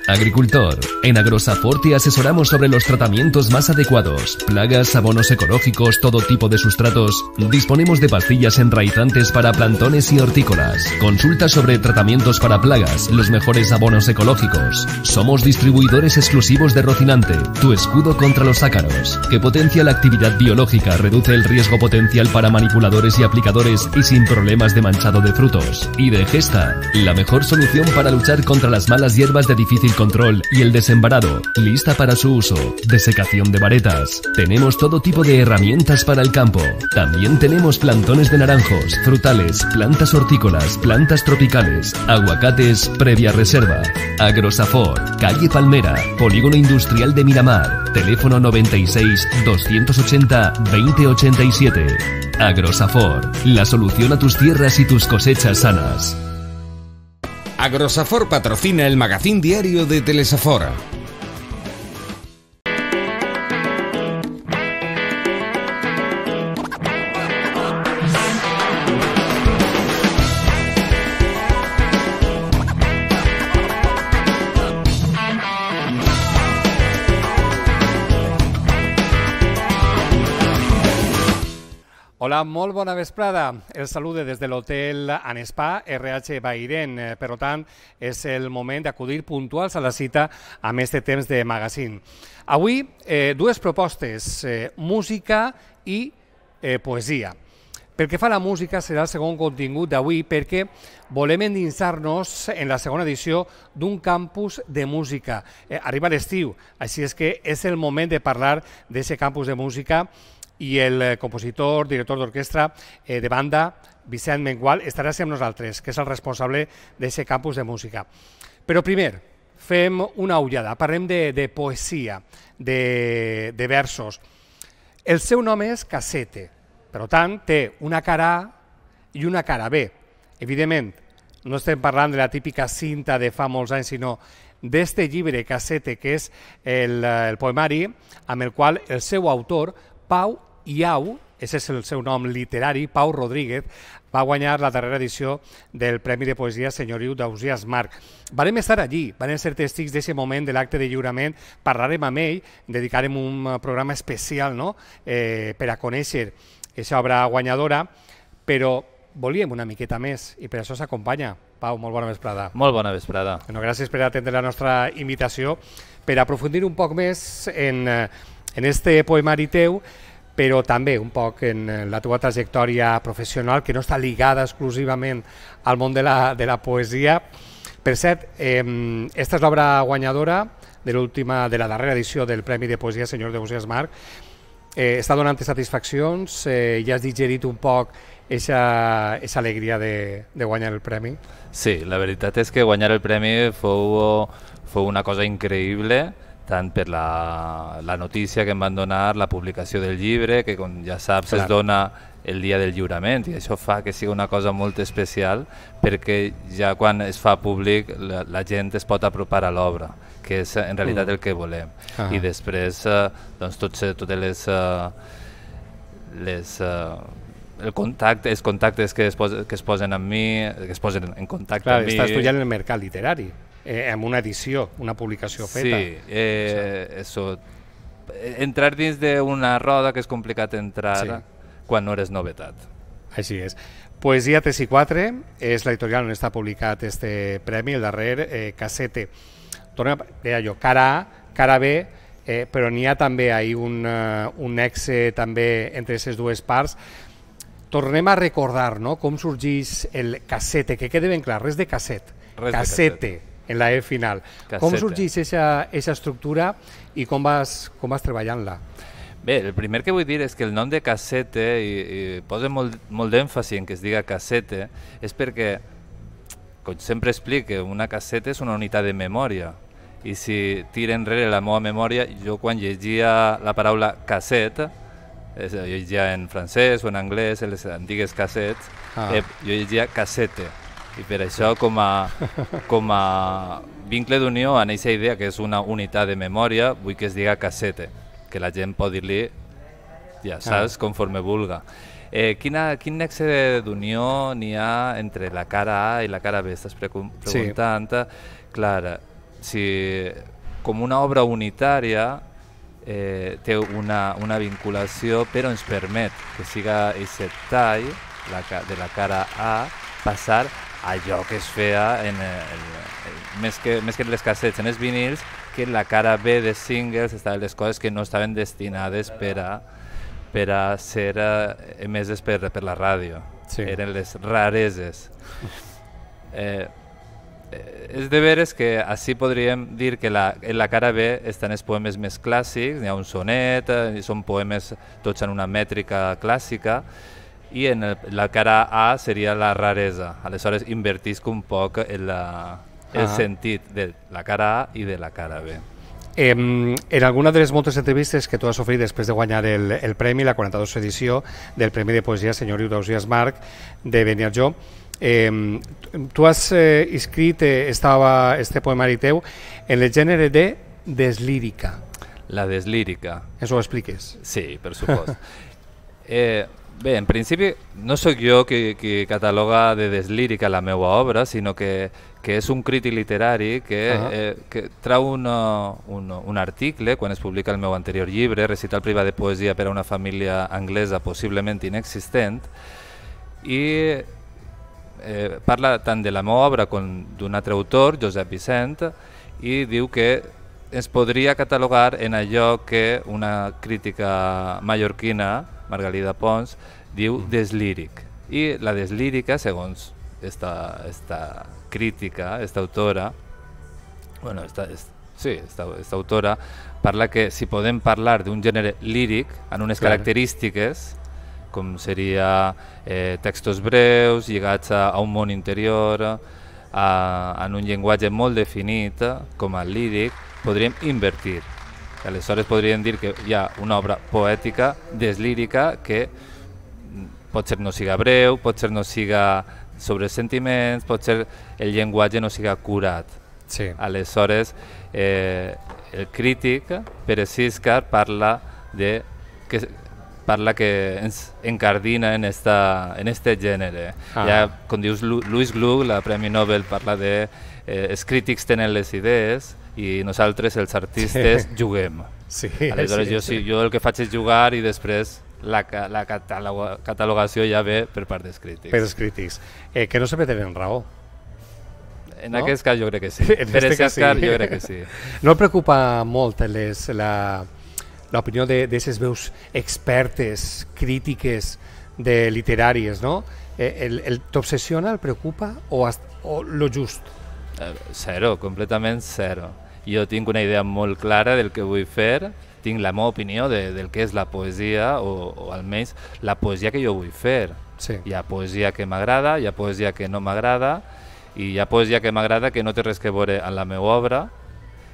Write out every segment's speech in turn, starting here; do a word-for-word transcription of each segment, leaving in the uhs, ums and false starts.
Agricultor. En Agrosafor te asesoramos sobre los tratamientos más adecuados. Plagas, abonos ecológicos, todo tipo de sustratos. Disponemos de pastillas enraizantes para plantones y hortícolas. Consulta sobre tratamientos para plagas, los mejores abonos ecológicos. Somos distribuidores exclusivos de Rocinante, tu escudo contra los ácaros, que potencia la actividad biológica, reduce el riesgo potencial para manipuladores y aplicadores y sin problemas de manchado de frutos. Y de Gesta, la mejor solución para luchar contra las malas hierbas de difícil control y el desembarado, lista para su uso. Desecación de varetas. Tenemos todo tipo de herramientas para el campo. También tenemos plantones de naranjos, frutales, plantas hortícolas, plantas tropicales, aguacates previa reserva. Agrosafor, calle Palmera, Polígono Industrial de Miramar. Teléfono noventa y seis, doscientos ochenta, veinte ochenta y siete. Agrosafor, la solución a tus tierras y tus cosechas sanas. Agrosafor patrocina el magazín diario de Telesafora. Hola, molt bona vesprada. El salude des de l'hotel Anespa R H Bairen. Per tant, és el moment d'acudir puntuals a la cita amb este temps de magazine. Avui, eh, dues propostes, eh, música i eh, poesia. Pel que fa a la música, serà el segon contingut d'avui perquè volem endinsar-nos en la segona edició d'un campus de música. Eh, arriba l'estiu, així és que és el moment de parlar d'aquest campus de música i el compositor, director d'orquestra eh, de banda, Vicent Mengual, estarà amb nosaltres, que és el responsable d'aquest campus de música. Però primer, fem una ullada, parlem de, de poesia, de, de versos. El seu nom és Casete, per tant, té una cara A i una cara B. Evidentment, no estem parlant de la típica cinta de fa molts anys, sinó d'este llibre Casete, que és el, el poemari amb el qual el seu autor, Pau Iau, aquest és el seu nom literari, Pau Rodríguez, va guanyar la darrera edició del Premi de Poesia Senyoriu d'Ausiàs Marc. Varem estar allí, vam ser tèstics d'aquest moment de l'acte de lliurament, parlarem amb ell, dedicarem un programa especial no? eh, per a conèixer aquesta obra guanyadora, però volíem una miqueta més i per això s'acompanya. Pau, molt bona vesprada. Molt bona vesprada. Bueno, gràcies per atendre la nostra invitació, per aprofundir un poc més en, en este poemari teu, però també un poc en la teva trajectòria professional, que no està lligada exclusivament al món de la, de la poesia. Per cert, eh, esta és l'obra guanyadora de l'última, de la darrera edició del Premi de Poesia Senyor d'Ausiàs Marc. Eh, està donant satisfaccions, eh, ja has digerit un poc aquesta alegria de, de guanyar el premi? Sí, la veritat és que guanyar el premi fou, fou una cosa increïble, tant per la, la notícia que em van donar, la publicació del llibre, que com ja saps Clar. es dona el dia del lliurament, i això fa que sigui una cosa molt especial, perquè ja quan es fa públic la, la gent es pot apropar a l'obra, que és en realitat mm. el que volem. Ah. I després eh, doncs, tots, totes les, eh, les eh, el contacte, els contactes que es, posen, que es posen amb mi, que es posen en contacte Clar, amb mi. Està estudiant el mercat literari. Eh, amb una edició, una publicació feta. Sí, eh, eso. Entrar dins d'una roda que és complicat entrar sí. quan no eres novetat. Així és. Poesia tres i quatre és l'editorial on està publicat este premi, el darrer, eh, Casete. Torna, deia jo, cara A, cara B, eh, però n'hi ha també ahí un, uh, un nexe també entre aquestes dues parts. Tornem a recordar no? com sorgeix el Casete, que quede ben clar, res de casset, res Casete. De casset. En la E final. Casete. Com sorgeix aquesta estructura i com vas, com vas treballant-la? Bé, el primer que vull dir és que el nom de Casete, i, i posa molt, molt d'èmfasi en que es diga Casete, és perquè, com sempre explico, una casseta és una unitat de memòria. I si tira enrere la meva memòria, jo quan llegia la paraula cassette, jo llegia en francès o en anglès, en les antigues cassets, ah. eh, jo llegia cassete. I per això, com a, com a vincle d'unió en aquesta idea, que és una unitat de memòria, vull que es diga cassete, que la gent pot dir-li, ja saps, ah. conforme vulga. Eh, quina, quin nexe d'unió n'hi ha entre la cara A i la cara B? Estàs preguntant. Sí. Clar, si com una obra unitària eh, té una, una vinculació, però ens permet que siga aquest tall la, de la cara A passar a allò que es feia en, el, el, més, que, més que en les cassets, en els vinils, que en la cara B de singles estaven les coses que no estaven destinades per a, per a ser eh, emeses per, per la ràdio. Sí. Eren les rareses. Eh, és de veres que així podríem dir que la, en la cara B estan els poemes més clàssics, n'hi ha un sonet, eh, són poemes tots en una mètrica clàssica, i en el, la cara A seria la raresa. Aleshores invertisc un poc en la, el ah. sentit de la cara A i de la cara B. Eh, en alguna de les moltes entrevistes que tu has ofert després de guanyar el, el premi, la quaranta-duena edició del Premi de Poesia Senyor Eudoxias March de Beniarjó, eh, tu has eh, escrit eh, estava este poemari teu en el gènere de deslírica. La deslírica. Això ho expliques? Sí, per supost. eh, Bé, en principi no sóc jo qui, qui cataloga de deslírica la meva obra, sinó que, que és un crític literari que, uh -huh. eh, que trau una, un, un article quan es publica el meu anterior llibre, Recital privat de poesia per a una família anglesa possiblement inexistent, i eh, parla tant de la meva obra com d'un altre autor, Josep Vicent, i diu que es podria catalogar en allò que una crítica mallorquina, Margalida Pons, diu deslíric. I la deslírica, segons esta, esta crítica, esta autora, bueno, esta, esta, sí, esta, esta autora, parla que si podem parlar d'un gènere líric en unes Clar. característiques, com seria eh, textos breus, lligats a, a un món interior, a, en un llenguatge molt definit, com el líric, podríem invertir. Aleshores podríem dir que hi ha una obra poètica deslírica que potser no siga breu, potser no siga sobre sentiments, potser el llenguatge no siga curat. Sí. Aleshores, eh, el crític, Pere Siscar, parla de que parla que ens encardina en esta en este gènere. Ah. Ja, com dius, Louis Gluck, la Premi Nobel, parla de eh, els crítics tenen les idees i nosaltres, els artistes, sí. juguem. Sí, Aleshores, sí, jo, sí. jo el que faig és jugar i després la, la cataloga, catalogació ja ve per part dels crítics. Per els crítics. Eh, que no sempre tenen raó. En no? aquest cas jo crec que sí. En per este aquest cas sí. jo crec que sí. No et preocupa molt les, la, l'opinió d'aquestes veus expertes, crítiques, de literàries, no? Eh, el, el, ¿T'obsessiona, el preocupa o, hasta, o lo just? Eh, zero, completament zero. Jo tinc una idea molt clara del que vull fer, tinc la meva opinió de, del que és la poesia, o, o almenys la poesia que jo vull fer. Sí. Hi ha poesia que m'agrada, hi ha poesia que no m'agrada, i hi ha poesia que m'agrada que no té res que veure amb la meva obra,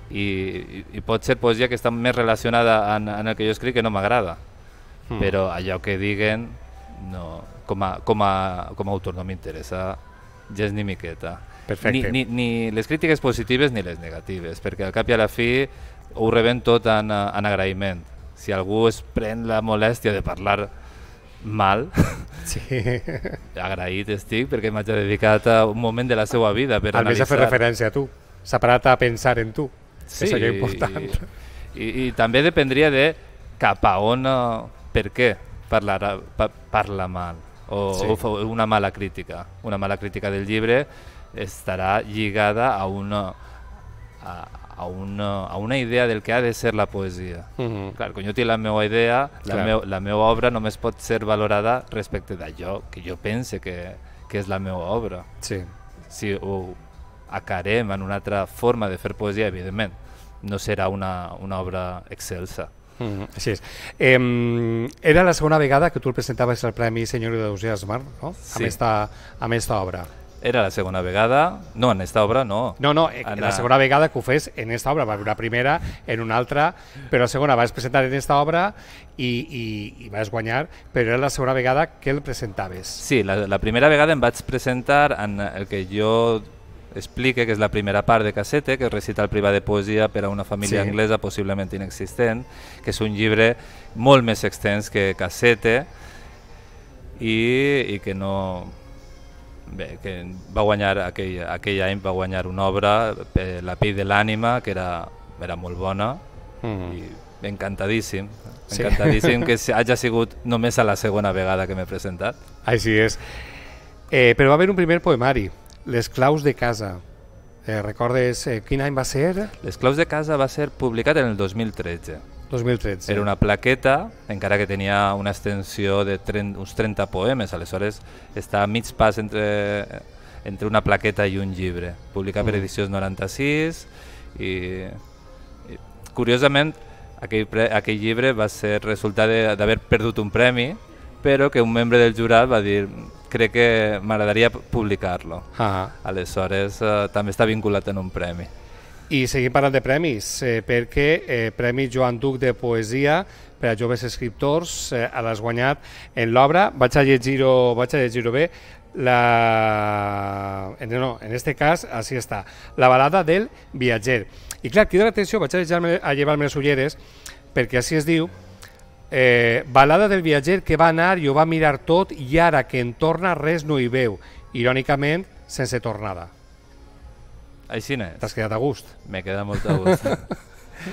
i, i, i pot ser poesia que està més relacionada en, en el que jo escric que no m'agrada. Mm. Però allò que diguen, no, com, a, com, a, com a autor no m'interessa gens ni miqueta. Perfecte. Ni, ni, ni les crítiques positives ni les negatives, perquè al cap i a la fi ho rebem tot en, en agraïment. Si algú es pren la molèstia de parlar mal, sí. agraït estic perquè m'haig dedicat a un moment de la seva vida per Almenys analitzar. a fer referència a tu, s'ha parat a pensar en tu, sí, que és allò important. I, i, i també dependria de cap a on, per què parlar, pa, parla mal, o, sí. o una mala crítica. Una mala crítica del llibre estarà lligada a una, a, a, una, a una idea del que ha de ser la poesia. Uh -huh. Clar, quan jo tinc la meva idea, la, meu, la meva obra només pot ser valorada respecte d'allò que jo pense que, que és la meva obra. Sí. Si ho acarem en una altra forma de fer poesia, evidentment, no serà una, una obra excelsa. Mm, així és. Eh, era la segona vegada que tu el presentaves al Premi Senyor Eudoxias March, no? Sí. Amb esta, amb esta obra. Era la segona vegada, no, en esta obra no. No, no, en la segona vegada que ho fes en esta obra, va haver una primera, en una altra, però la segona vas presentar en esta obra i, i, i vas guanyar, però era la segona vegada que el presentaves. Sí, la, la primera vegada em vaig presentar en el que jo explique, que és la primera part de Cassette, que és Recital privat de poesia per a una família sí. anglesa possiblement inexistent, que és un llibre molt més extens que Cassette i, i que no... bé, que va guanyar, aquell, aquell any va guanyar una obra, eh, La pell de l'ànima, que era, era molt bona, mm. i encantadíssim, sí. encantadíssim que hagi sigut només a la segona vegada que m'he presentat. Així és. Eh, però va haver un primer poemari, Les claus de casa. Eh, recordes eh, quin any va ser? Les claus de casa va ser publicat en el dos mil tretze. dos mil tretze. Era una plaqueta, encara que tenia una extensió de trenta, uns trenta poemes, aleshores està a mig pas entre, entre una plaqueta i un llibre. Publicat mm. per Edicions noranta-sis i, i curiosament aquell, pre, aquell llibre va ser resultat d'haver perdut un premi, però que un membre del jurat va dir crec que m'agradaria publicar-lo. Ah. Aleshores eh, també està vinculat en un premi. I seguim parlant de premis, eh, perquè eh, Premi Joan Duc de Poesia per a joves escriptors eh, l'has guanyat en l'obra, vaig a llegir-ho vaig a llegir-ho bé, la... no, en este cas, així està, La balada del viatger. I clar, crida l'atenció, vaig a, llevar a llevar-me les ulleres, perquè així es diu, eh, balada del viatger que va anar i ho va mirar tot i ara que en torna res no hi veu, irònicament sense tornada. Així n'és. T'has quedat a gust? M'he quedat molt a gust.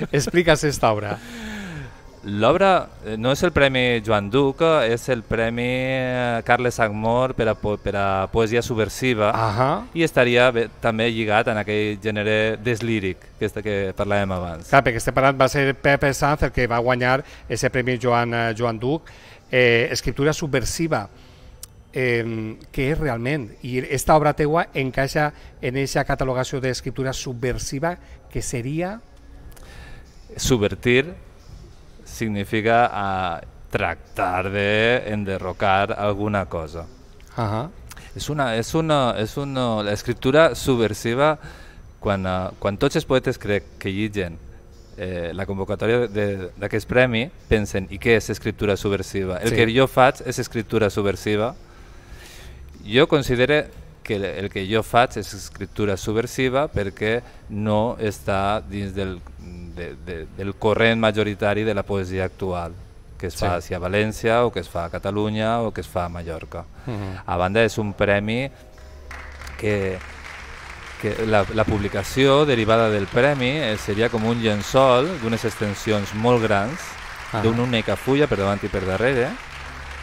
Explica'ns esta obra. L'obra no és el Premi Joan Duc, és el Premi Carles Agmor per a, per a poesia subversiva. Uh-huh. I estaria bé, també lligat en aquell gènere deslíric que, que parlàvem abans. Clar, perquè estem parlant, va ser Pepe Sanz el que va guanyar aquest Premi Joan, Joan Duc, eh, escriptura subversiva. Eh, què és realment? I esta obra teua encaixa en aquesta catalogació d'escriptura subversiva que seria? Subvertir significa uh, tractar d'enderrocar alguna cosa. Uh-huh. És una, és una, és una, l'escriptura subversiva, quan, uh, quan tots els poetes crec que lligen eh, la convocatòria d'aquest premi, pensen, i què és escriptura subversiva? El sí. que jo faig és escriptura subversiva. Jo considero que el que jo faig és escriptura subversiva perquè no està dins del, de, de, del corrent majoritari de la poesia actual, que es fa sí. a València o que es fa a Catalunya o que es fa a Mallorca. Uh-huh. A banda és un premi que, que la, la publicació derivada del premi seria com un llençol d'unes extensions molt grans, uh-huh. d'una única fulla per davant i per darrere,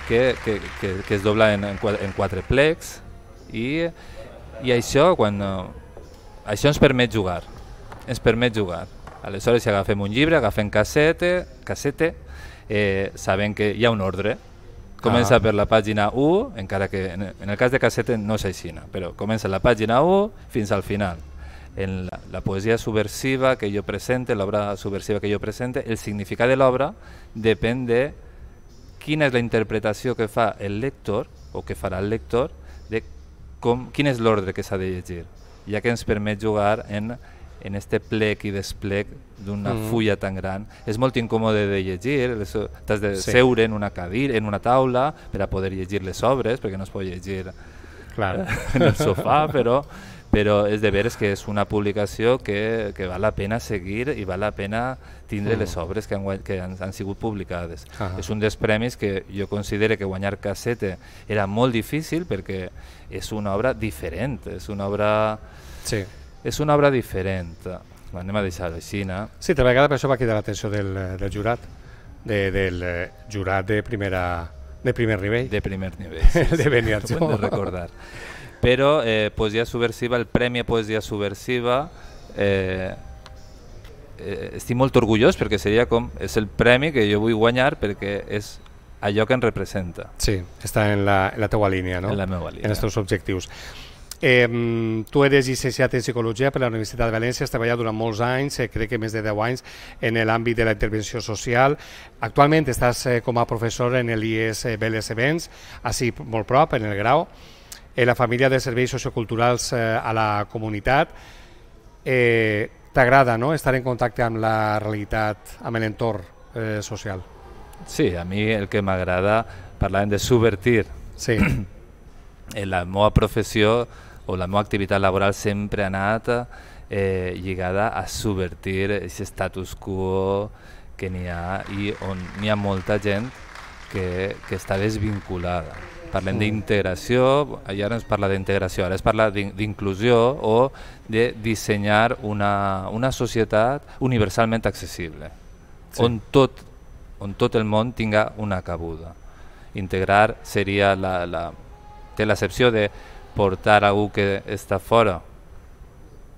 Que, que, que, que es dobla en, en, quatre, en quatre plecs i, i això, quan, uh, això ens permet jugar, ens permet jugar. Aleshores, si agafem un llibre, agafem cassete, cassete eh, sabem que hi ha un ordre. Comença ah. per la pàgina u, encara que en, en el cas de cassete no és així, però comença la pàgina u fins al final. En la, la poesia subversiva que jo presente, l'obra subversiva que jo presente, el significat de l'obra depèn de quina és la interpretació que fa el lector o que farà el lector de com, quin és l'ordre que s'ha de llegir, ja que ens permet jugar en, en este plec i desplec d'una mm. fulla tan gran. És molt incòmode de llegir, t'has de sí. seure en una cadira, en una taula per a poder llegir les obres, perquè no es pot llegir claro. en el sofà, però però és de veres que és una publicació que, que val la pena seguir i val la pena tindre mm. les obres que, han, que han, han sigut publicades. Uh -huh. És un dels premis que jo considero que guanyar cassete era molt difícil perquè és una obra diferent, és una obra, sí. és una obra diferent. Anem a deixar-ho així, no? Sí, tal vegada per això va cridar l'atenció del, del jurat, de, del jurat de, primera, de primer nivell. De primer nivell, sí, de sí, Beniarjó. Ho hem de recordar. Però eh, poesia subversiva, el Premi a Poesia Subversiva, eh, eh, estic molt orgullós perquè seria com, és el premi que jo vull guanyar perquè és allò que em representa. Sí, està en la, en la teua línia, no? En la meva línia. En els teus objectius. Eh, tu eres llicenciat en Psicologia per la Universitat de València, has treballat durant molts anys, eh, crec que més de deu anys, en l'àmbit de la intervenció social. Actualment estàs eh, com a professor en l'I E S Vélez Events, així molt prop, en el grau, en la família de serveis socioculturals eh, a la comunitat. Eh, T'agrada, no?, estar en contacte amb la realitat, amb l'entorn eh, social? Sí, a mi el que m'agrada, parlant de subvertir, sí. en la meva professió o la meva activitat laboral sempre ha anat eh, lligada a subvertir aquest status quo que n'hi ha i on n'hi ha molta gent que, que està desvinculada. Parlem mm. d'integració, i ara no es parla d'integració, ara es parla d'inclusió o de dissenyar una, una societat universalment accessible, sí. on, tot, on tot el món tinga una cabuda. Integrar seria la, la, té l'accepció de portar algú que està fora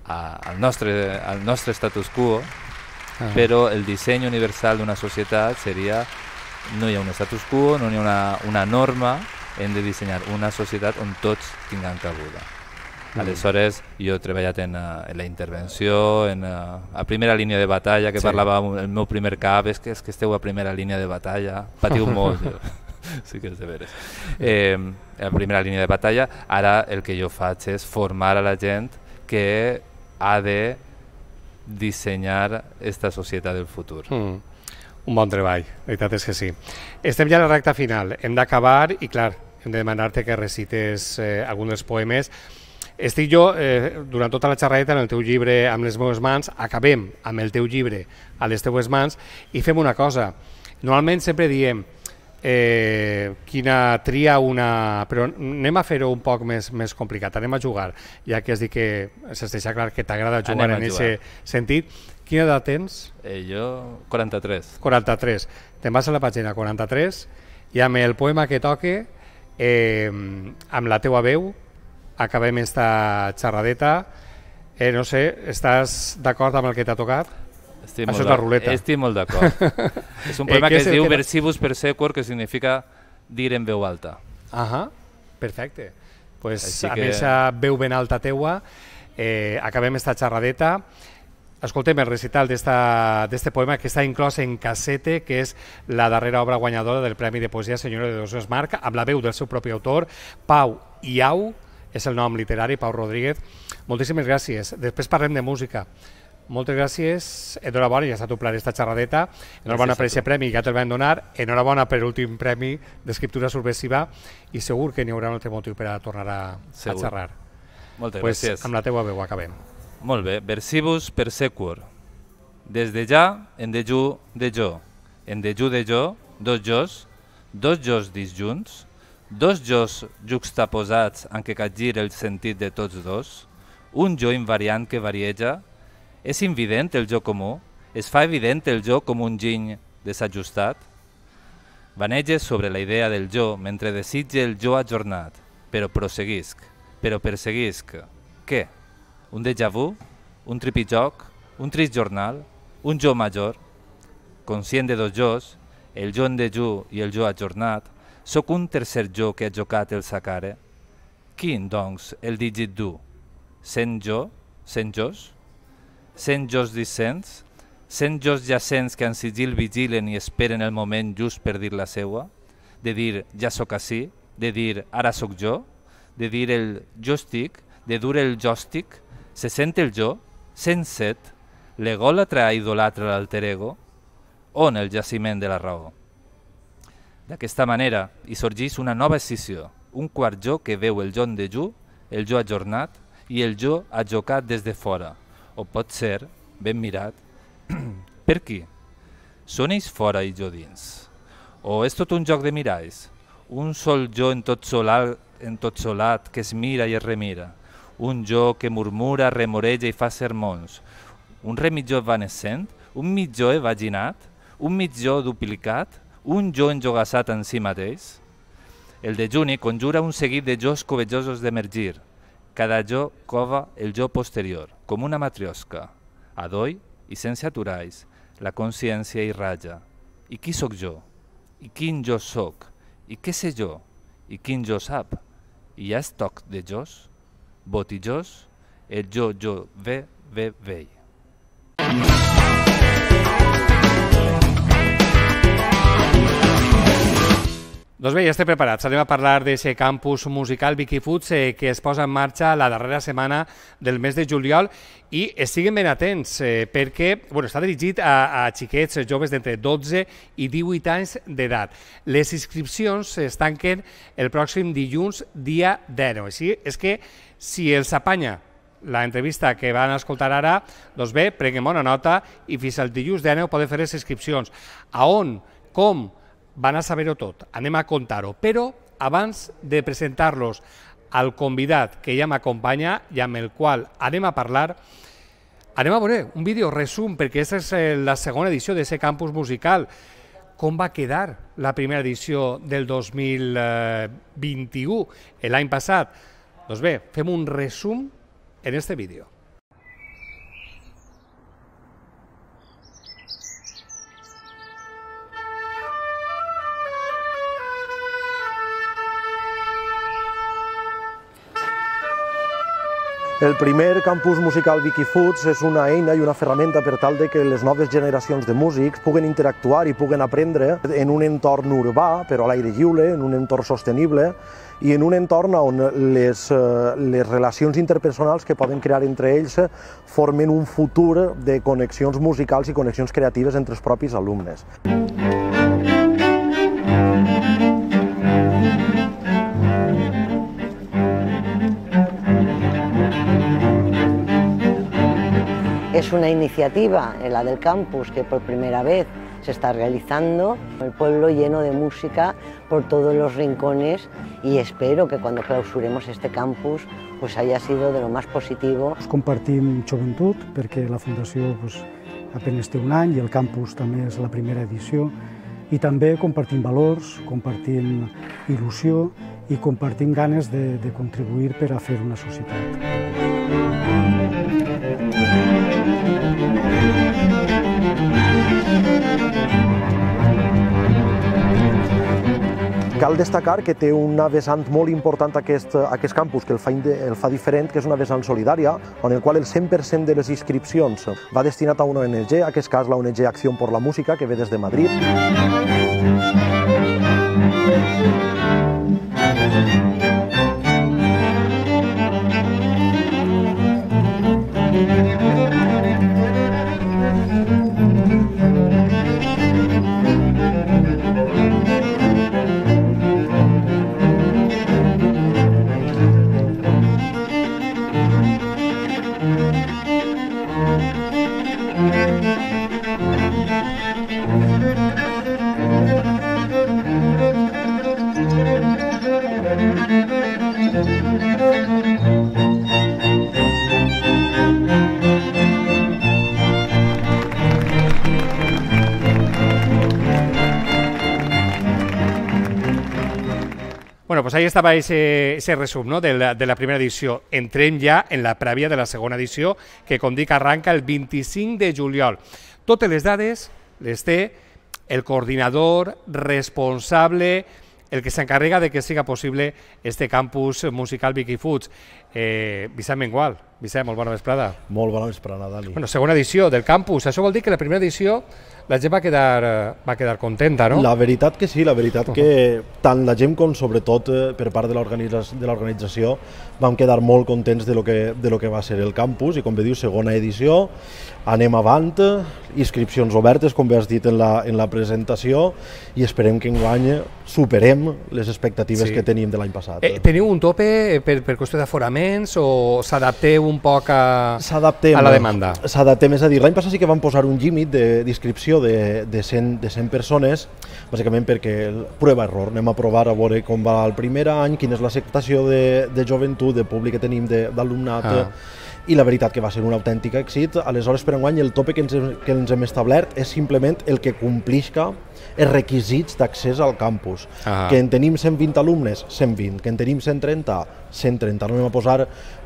a, al, nostre, al nostre status quo, ah. però el disseny universal d'una societat seria no hi ha un status quo, no hi ha una, una norma, hem de dissenyar una societat on tots tinguin cabuda. Mm. Aleshores, jo he treballat en, en la intervenció, en a, a primera línia de batalla, que sí. parlava el meu primer cap, és que, és que esteu a primera línia de batalla, patiu molt. Sí que és de veres. Eh, a primera línia de batalla, ara el que jo faig és formar a la gent que ha de dissenyar esta societat del futur. Mm. Un bon treball, la veritat és que sí. Estem ja a la recta final, hem d'acabar i clar, hem de demanar-te que recites eh, algun dels poemes. Estic jo, eh, durant tota la xerradeta, en el teu llibre Amb les meves mans, acabem amb el teu llibre A les teues mans i fem una cosa. Normalment sempre diem eh, quina tria una... però anem a fer-ho un poc més, més complicat, anem a jugar, ja que has dit que s'es deixa clar que t'agrada jugar en aquest sentit. Quina edat tens? Eh, jo, quaranta-tres. quaranta-tres. Te'n vas a la pàgina quaranta-tres i amb el poema que toque, eh, amb la teua veu, acabem esta xerradeta. Eh, no sé, estàs d'acord amb el que t'ha tocat? Estic Això és la ruleta. Estic molt d'acord. És un poema eh, que es diu Versibus per sequor, que significa dir en veu alta. Ahà, perfecte. Pues amb que... aquesta veu ben alta teua eh, acabem esta xerradeta. Escoltem el recital d'este poema que està inclòs en Cassette, que és la darrera obra guanyadora del Premi de Poesia Senyora de Dos Marc, amb la veu del seu propi autor, Pau Iau, és el nom literari, Pau Rodríguez. Moltíssimes gràcies. Després parlem de música. Moltes gràcies, enhorabona, ja s'ha toplat esta xerradeta, enhorabona per aquest premi, ja te'l vam donar, enhorabona per l'últim premi d'escriptura subversiva i segur que n'hi haurà un altre motiu per a tornar a, a xerrar. Moltes pues, gràcies. Amb la teua veu acabem. Molt bé, Versibus per sequor. Des de ja, en dejú de jo, en dejú de jo, dos jos, dos jos disjunts, dos jos juxtaposats en què capgir el sentit de tots dos, un jo invariant que varieja. És invident el jo comú? Es fa evident el jo com un giny desajustat? Vanege sobre la idea del jo mentre desitge el jo ajornat, però prosseguisc, però perseguisc. Què? Un déjà vu? Un tripijoc? Un trist jornal? Un jo major? Conscient de dos jos, el jo en dejú i el jo ajornat, sóc un tercer jo que ha jocat el sacare? Quin, doncs, el dígit dur? Cent jo? Cent jos? Cent jos dissents? Cent jos jacents que en sigil vigilen i esperen el moment just per dir la seua? De dir ja sóc ací? De dir ara sóc jo? De dir el jo estic? De dur el jo estic? Se sent el jo? cent set? L'egòlatra idolatra l'alter ego? On el jaciment de la raó? D'aquesta manera hi sorgeix una nova escissió, un quart jo que veu el jo en dejú, el jo ajornat i el jo ajocat des de fora, o pot ser, ben mirat, per qui? Són ells fora i jo dins? O és tot un joc de miralls? Un sol jo en tot, solar, en tot solat que es mira i es remira? Un jo que murmura, remoreja i fa sermons? Un remitjó evanescent? Un mitjó evaginat? Un mitjó duplicat? Un jo enjogassat en si mateix? El dejuni conjura un seguit de jos covejosos d'emergir. Cada jo cova el jo posterior, com una matriosca. Adoi i sense aturalls, la consciència irraja. I qui sóc jo? I quin jo sóc? I què sé jo? I quin jo sap? I hi ha estoc de jos? Botijós? El jo, jo, ve, ve, vei. Doncs bé, ja estem preparats. Anem a parlar d'aquest campus musical Vicky Foods eh, que es posa en marxa la darrera setmana del mes de juliol i estiguin ben atents eh, perquè bueno, està dirigit a, a xiquets joves d'entre dotze i divuit anys d'edat. Les inscripcions es tanquen el pròxim dilluns, dia deu. Així és que si els apanya l'entrevista que van escoltar ara, doncs bé, prenguem bona nota i fins al dilluns deu poden fer les inscripcions. A on? Com? Van a saber-ho tot, anem a contar-ho, però abans de presentar-los al convidat que ja m'acompanya i amb el qual anem a parlar, anem a veure un vídeo resum, perquè aquesta és la segona edició d'aquest campus musical. Com va quedar la primera edició del dos mil vint-i-u, l'any passat? Doncs bé, fem un resum en este vídeo. El primer campus musical Wikifuts és una eina i una ferramenta per tal de que les noves generacions de músics puguen interactuar i puguen aprendre en un entorn urbà, però a l'aire lliure, en un entorn sostenible i en un entorn on les, les relacions interpersonals que poden crear entre ells formen un futur de connexions musicals i connexions creatives entre els propis alumnes. Es una iniciativa, la del campus, que por primera vez se está realizando, el pueblo lleno de música por todos los rincones, y espero que cuando clausuremos este campus pues haya sido de lo más positivo. Compartim joventut perquè la Fundació pues, apenas té un any i el campus també és la primera edició, i també compartim valors, compartim il·lusió i compartim ganes de, de contribuir per a fer una societat. Cal destacar que té una vessant molt important aquest, aquest campus, que el fa, el fa diferent, que és una vessant solidària, on el qual el cent per cent de les inscripcions va destinat a una O N G, en aquest cas la O N G Acción por la Música, que ve des de Madrid. Bueno, pues ahí estaba ese, ese resum, ¿no?, de la, de la primera edició. Entrem ja en la prèvia de la segona edició, que, com dic, arranca el vint-i-cinc de juliol. Totes les dades les té el coordinador responsable, el que s'encarrega de que siga possible este campus musical Wikifuts. Eh, Vicent Mengual. Vicent, molt bona vesprada. Molt bona vesprada, Dani. Bueno, segona edició del campus. Això vol dir que la primera edició la gent va quedar, va quedar contenta, no? La veritat que sí, la veritat que tant la gent com sobretot per part de l'organització vam quedar molt contents de lo que, de lo que va ser el campus, i com bé diu, segona edició, anem avant, inscripcions obertes, com bé has dit en la, en la presentació, i esperem que enguany superem les expectatives sí. que tenim de l'any passat. Eh, teniu un tope per, per qüestió d'aforaments o s'adapteu un poc a, a la demanda? S'adaptem, és a dir, l'any passat sí que vam posar un límit d'inscripció de, de, cent, de cent persones, bàsicament perquè prova-error, anem a provar a veure com va el primer any, quina és l'acceptació de, de joventut, de públic que tenim, d'alumnat, ah. i la veritat que va ser un autèntic èxit. Aleshores, per enguany, el tope que ens, que ens hem establert és simplement el que complisca els requisits d'accés al campus. Ah. Que en tenim cent vint alumnes, cent vint, que en tenim cent trenta, cent trenta. No anem a posar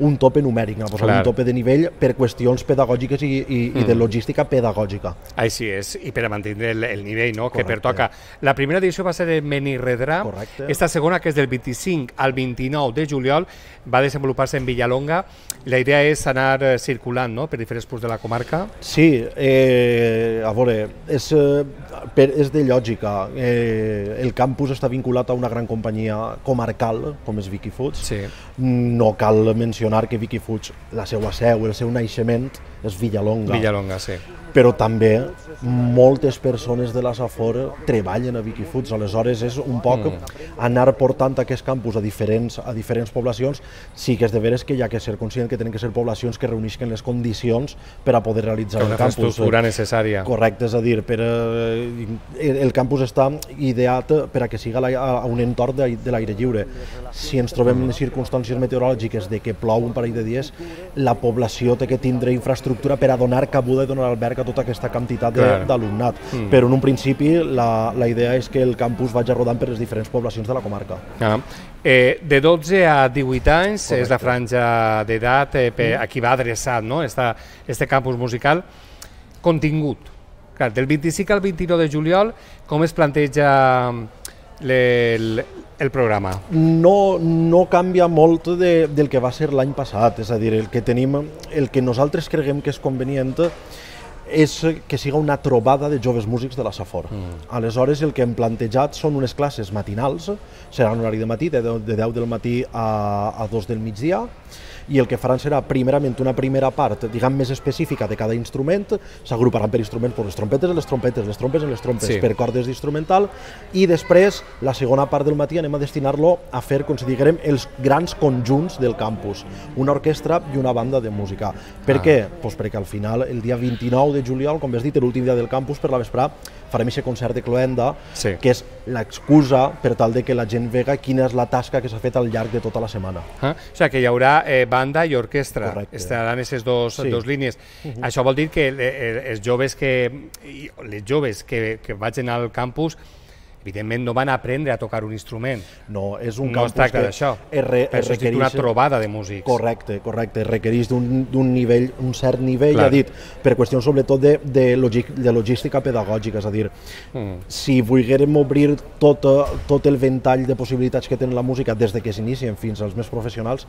un tope numèric, anem a posar Clar. un tope de nivell per qüestions pedagògiques i, i, mm. i de logística pedagògica. Així és, i per a mantenir el, el nivell, no?, que pertoca. La primera edició va ser en Benirredrà, esta segona, que és del vint-i-cinc al vint-i-nou de juliol, va desenvolupar-se en Villalonga. La idea és anar circulant, no?, per diferents punts de la comarca. Sí, eh, a veure, és, per, és de lògica. Eh, el campus està vinculat a una gran companyia comarcal, com és Wikifuts. Sí. No cal mencionar que Wikifuts, la seva seu, el seu naixement, és Villalonga. Villalonga, sí. però també moltes persones de la Safor treballen a Wikifuts, aleshores és un poc anar portant aquest campus a diferents, a diferents poblacions. Sí que és de veres que hi ha que ser conscient que tenen que ser poblacions que reuneixen les condicions per a poder realitzar el campus. Una infraestructura necessària. Correcte, és a dir, per, el campus està ideat per a que siga a un entorn de l'aire lliure. Si ens trobem en circumstàncies meteorològiques de que plou un parell de dies, la població té que tindre infraestructura per a donar cabuda i donar alberg a tota aquesta quantitat d'alumnat. Mm. Però en un principi la, la idea és que el campus vagi rodant per les diferents poblacions de la comarca. Ah. Eh, de dotze a divuit anys Correcte. És la franja d'edat eh, mm. a qui va adreçat, no? Esta, este campus musical. Contingut. Clar, del vint-i-cinc al vint-i-nou de juliol, com es planteja el, el programa? No, no canvia molt de, del que va ser l'any passat, és a dir, el que tenim, el que nosaltres creguem que és convenient és que siga una trobada de joves músics de la Safor. Mm. Aleshores, el que hem plantejat són unes classes matinals, serà un horari de matí, de deu del matí a, a dos del migdia, i el que faran serà primerament una primera part, diguem, més específica de cada instrument, s'agruparan per instruments, per les trompetes en les trompetes, les trompes en les trompes, sí. per cordes d'instrumental, i després, la segona part del matí anem a destinar-lo a fer, com si diguem, els grans conjunts del campus, una orquestra i una banda de música. Per ah. què? Pues perquè al final, el dia vint-i-nou de juliol, com has dit, l'últim dia del campus, per la vesprà, farem aquest concert de cloenda, sí. que és l'excusa per tal de que la gent vega quina és la tasca que s'ha fet al llarg de tota la setmana. Ah, o sigui que hi haurà eh, banda i orquestra, Correcte. Estaran aquestes dos, sí. dos línies. Uh -huh. Això vol dir que els joves que, les joves que, que vagin al campus evidentment no van a aprendre a tocar un instrument. No, és un no campus es tracta que d'això. Es re, es requereix una trobada de músics. Correcte, correcte. Es requereix d'un nivell, un cert nivell, Clar. ja dit, per qüestions sobretot de, de, logí de logística pedagògica, és a dir, mm. si volguérem obrir tot, tot el ventall de possibilitats que té la música des de que s'inicien fins als més professionals,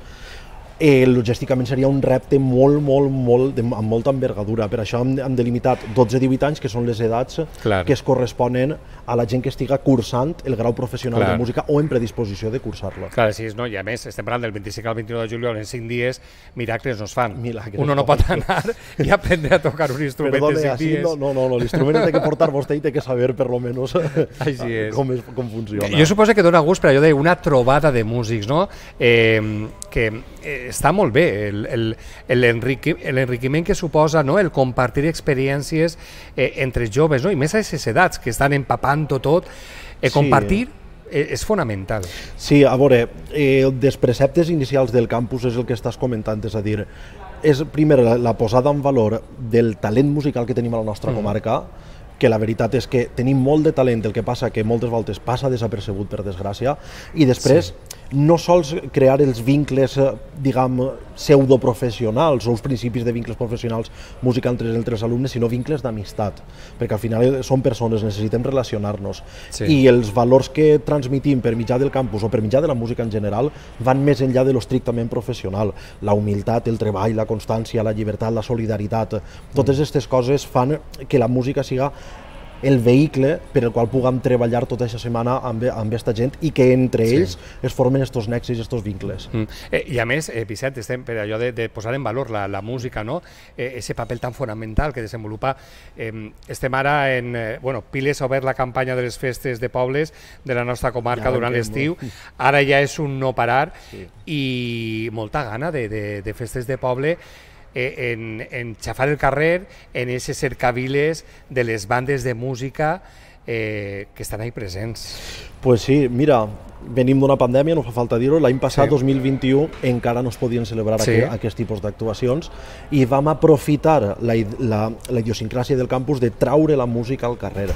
Eh, logísticament seria un repte molt, molt, molt, de, amb molta envergadura. Per això hem, hem delimitat dotze a divuit anys, que són les edats Clar. que es corresponen a la gent que estiga cursant el grau professional Clar. de música o en predisposició de cursar-lo. Clar, sí, no? I a més, estem parlant del vint-i-cinc al vint-i-nou de juliol, en cinc dies, miracles no es fan. Milagres Uno no pot anar i aprendre a tocar un instrument Perdone, en cinc dies. No, no, no, no l'instrument té que portar vostè i té que saber, per lo menos, Així és. com, és, com funciona. Jo suposo que dona gust per allò d'una trobada de músics, no? Eh, que eh, està molt bé l'enriquiment que suposa, no? El compartir experiències eh, entre joves, no? I més a aquestes edats que estan empapant-ho tot, eh, compartir sí. és fonamental. Sí, a veure, eh, dels preceptes inicials del campus és el que estàs comentant, és a dir, és primer la, la posada en valor del talent musical que tenim a la nostra mm. comarca, que la veritat és que tenim molt de talent, el que passa que moltes voltes passa desapercebut, per desgràcia, i després sí. no sols crear els vincles, diguem, pseudoprofessionals o els principis de vincles professionals música entre els alumnes, sinó vincles d'amistat, perquè al final són persones, necessitem relacionar-nos, sí. i els valors que transmitim per mitjà del campus o per mitjà de la música en general van més enllà de lo estrictament professional. La humilitat, el treball, la constància, la llibertat, la solidaritat, totes aquestes coses fan que la música siga el vehicle per el qual puguem treballar tota aquesta setmana amb aquesta gent i que entre sí. ells es formen estos nexis, estos vincles. Mm. Eh, I a més, eh, Vicent, estem per allò de, de posar en valor la, la música, no? Eh, ese paper tan fonamental que desenvolupa. Eh, estem ara en... Eh, bueno, Piles ha obert la campanya de les festes de pobles de la nostra comarca ja durant l'estiu. Ara ja és un no parar sí. i molta gana de, de, de festes de poble en, en xafar el carrer, en aquestes cercaviles de les bandes de música eh, que estan ahí presents. Pues sí, mira, venim d'una pandèmia, no fa falta dir-ho, l'any passat, sí. dos mil vint-i-u, encara no es podien celebrar sí. aquest, aquest tipus d'actuacions i vam aprofitar la, la, la idiosincràsia del campus de traure la música al carrer.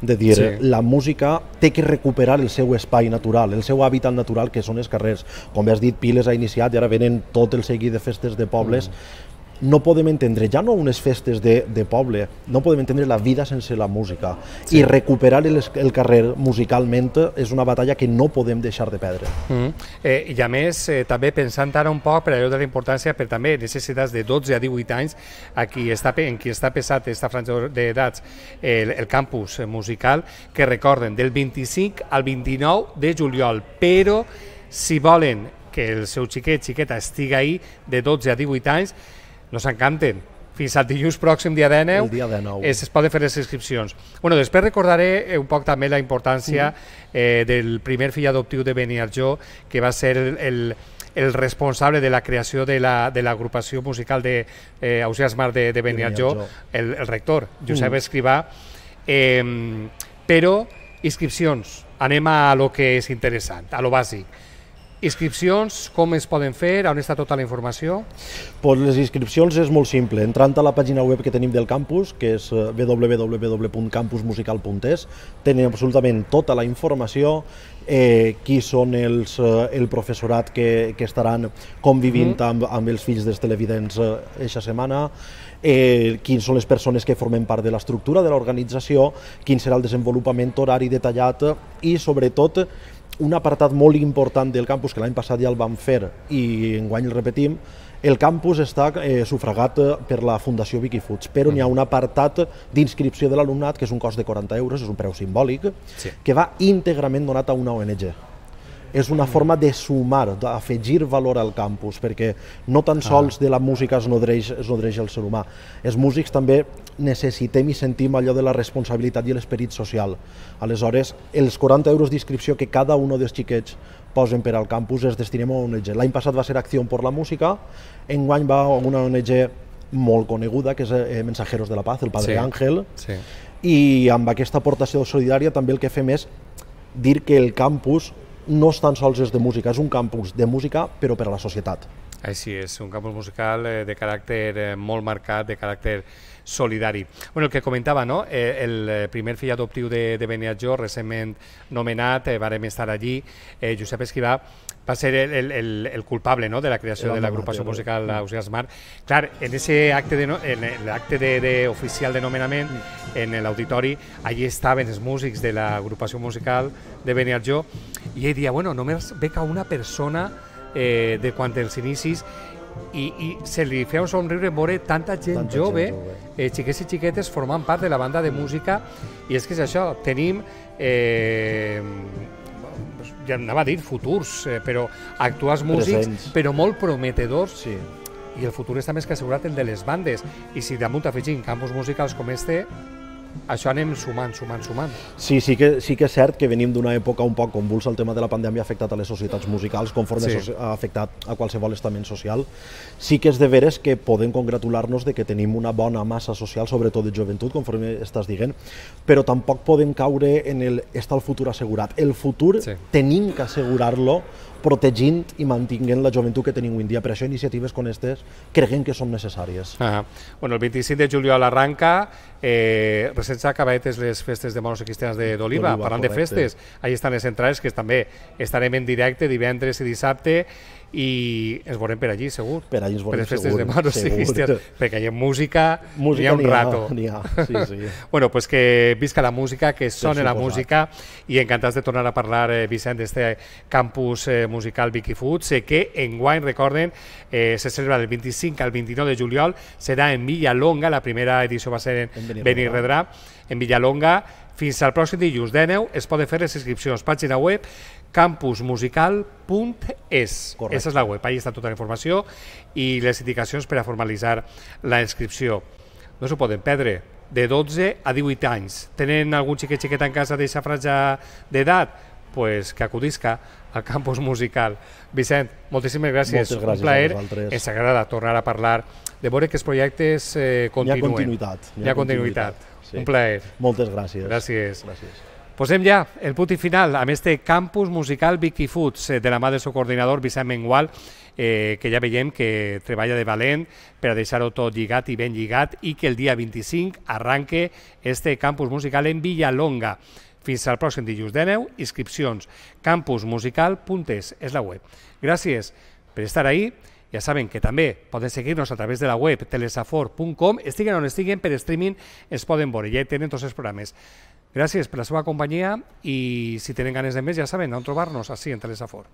De dir, sí. la música té que recuperar el seu espai natural, el seu hàbitat natural, que són els carrers. Com has dit, Piles ha iniciat i ara venen tot el seguit de festes de pobles. Mm. No podem entendre, ja no unes festes de, de poble, no podem entendre la vida sense la música. Sí. I recuperar el, el carrer musicalment és una batalla que no podem deixar de perdre. Mm. Eh, I a més, eh, també pensant ara un poc per allò de la importància, però també necessitats de dotze a divuit anys, a qui està, en qui està pesat aquesta franja d'edats, el, el campus musical, que recorden, del vint-i-cinc al vint-i-nou de juliol, però si volen que el seu xiquet, xiqueta, estigui ahí de dotze a divuit anys, no s'encanten, fins al dilluns pròxim, dia dinou, el dia dinou. Es, es poden fer les inscripcions. Bueno, després recordaré un poc també la importància eh, del primer fill adoptiu de Beniarjó, que va ser el, el, el responsable de la creació de l'agrupació la, musical d'Ausiàs Mar de, de Beniarjó, el, el rector, Josep mm. Escrivà. Eh, però, inscripcions, anem a lo que és interessant, a lo bàsic. Inscripcions, com es poden fer? On està tota la informació? Pues les inscripcions és molt simple. Entrant a la pàgina web que tenim del campus, que és w w w punt campus musical punt es, tenen absolutament tota la informació, eh, qui són els, eh, el professorat que, que estaran convivint mm. amb, amb els fills dels televidents aquesta eh, setmana, eh, quins són les persones que formen part de l'estructura de l'organització, quin serà el desenvolupament horari detallat i, sobretot, un apartat molt important del campus, que l'any passat ja el vam fer i enguany el repetim, el campus està eh, sufragat per la Fundació Wikifuts, però n'hi ha un apartat d'inscripció de l'alumnat que és un cost de quaranta euros, és un preu simbòlic, sí. que va íntegrament donat a una O N G. És una forma de sumar, d'afegir valor al campus, perquè no tan sols de la música es nodreix, es nodreix el ser humà. Els músics també necessitem i sentim allò de la responsabilitat i l'esperit social. Aleshores, els quaranta euros d'inscripció que cada un dels xiquets posen per al campus es destinem a una O N G. L'any passat va ser Acció per la Música, enguany va a una O N G molt coneguda, que és eh, Mensajeros de la Paz, el Padre sí. Ángel, sí. i amb aquesta aportació solidària també el que fem és dir que el campus no és tan sols és de música, és un campus de música però per a la societat. Així és, un campus musical de caràcter molt marcat, de caràcter solidari. Bueno, el que comentava, no? El primer fill adoptiu de, de Beniarjó, recentment nomenat, eh, vàrem estar allí, eh, Josep Escrivà, va ser el, el, el culpable, no?, de la creació de l'agrupació musical Ausiàs Mar. Clar, en ese acte de, no, en l'acte de, de oficial de nomenament, en l'auditori, allí estaven els músics de l'agrupació musical de Beniarjó, i ell dia, bueno, només beca una persona eh, de quan els inicis, i, i se li feia un somriure veure tanta gent tanta jove, gent jove. Eh, xiquets i xiquetes formant part de la banda de música, i és que és això, tenim eh, ja anava a dir futurs, eh, però actuals músics, presents. Però molt prometedors, sí. I el futur està més que assegurat el de les bandes, i si damunt afegim campus musicals com este, això anem sumant, sumant, sumant. Sí, sí que, sí que és cert que venim d'una època un poc convulsa, el tema de la pandèmia ha afectat a les societats musicals, conforme sí. ha afectat a qualsevol estament social. Sí que és de veres que podem congratular-nos de que tenim una bona massa social, sobretot de joventut, conforme estàs dient, però tampoc podem caure en el està el futur assegurat. El futur sí. tenim que assegurar-lo protegint i mantinguent la joventut que tenim avui en dia. Per això iniciatives com aquestes creguem que són necessàries. Ah, bueno, el vint-i-cinc de juliol arranca, eh, recent s'ha acabat les festes de moros i cristians d'Oliva, parlant correcte. De festes, allà estan les entrades que també estarem en directe divendres i dissabte, i ens veurem per allí, segur. Per allí ens veurem, per les festes segur. De moros i cristians, perquè hi ha música, música hi ha un ha, rato. N'hi ha, sí, sí. Bueno, pues que visca la música, que sone la música, i encantats de tornar a parlar, eh, Vicent, d'este campus eh, musical Wikifuts, eh, que enguany, recorden, eh, se celebra del vint-i-cinc al vint-i-nou de juliol, serà en Villalonga, la primera edició va ser en, en Benirredrà, en Villalonga. Fins al pròxim dilluns dinou es poden fer les inscripcions. Pàgina web campus musical punt es. Aquesta és la web, allà està tota la informació i les indicacions per a formalitzar la inscripció. No s'ho poden perdre. De dotze a divuit anys. Tenen algun xiquet xiquet en casa d'aquesta franja d'edat? Pues que acudisca al campus musical. Vicent, moltíssimes gràcies. Moltes gràcies un plaer. a vosaltres. Ens agrada tornar a parlar de veure que els projectes eh, continuen. Hi ha continuïtat. Hi ha continuïtat. Sí. Un plaer. Moltes gràcies. Gràcies. gràcies. Posem ja el punt i final amb este campus musical Wikifuts de la mà del seu coordinador Vicent Mengual, eh, que ja veiem que treballa de valent per a deixar-ho tot lligat i ben lligat, i que el dia vint-i-cinc arranque este campus musical en Villalonga. Fins al pròxim dilluns dinou, inscripcions campus musical punt es és la web. Gràcies per estar ahí. Ja saben que també poden seguir-nos a través de la web telesafor punt com, estiguen on estiguen, per streaming es poden veure, ja tenen tots els programes. Gràcies per la seva companyia i si tenen ganes de més ja saben on trobar-nos, així en Telesafor.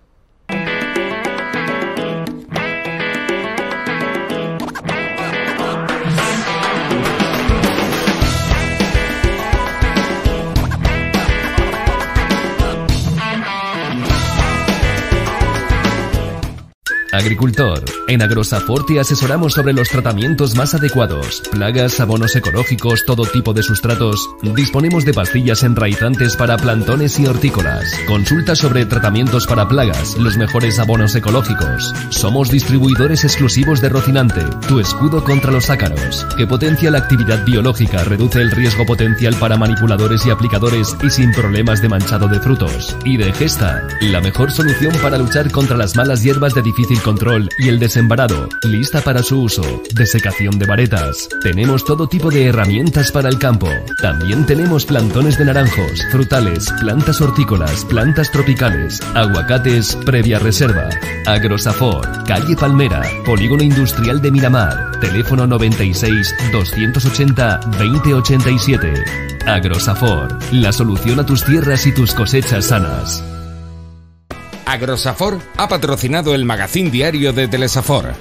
Agricultor. En Agrosafor te asesoramos sobre los tratamientos más adecuados. Plagas, abonos ecológicos, todo tipo de sustratos. Disponemos de pastillas enraizantes para plantones y hortícolas. Consulta sobre tratamientos para plagas, los mejores abonos ecológicos. Somos distribuidores exclusivos de Rocinante, tu escudo contra los ácaros, que potencia la actividad biológica, reduce el riesgo potencial para manipuladores y aplicadores y sin problemas de manchado de frutos. Y de Gesta, la mejor solución para luchar contra las malas hierbas de difícil control y el desembarado, lista para su uso. Desecación de varetas. Tenemos todo tipo de herramientas para el campo. También tenemos plantones de naranjos, frutales, plantas hortícolas, plantas tropicales, aguacates previa reserva. Agrosafor, calle Palmera, Polígono Industrial de Miramar, teléfono noventa y seis, doscientos ochenta, veinte ochenta y siete. Agrosafor, la solución a tus tierras y tus cosechas sanas. Agrosafor ha patrocinado el magazín diario de Telesafor.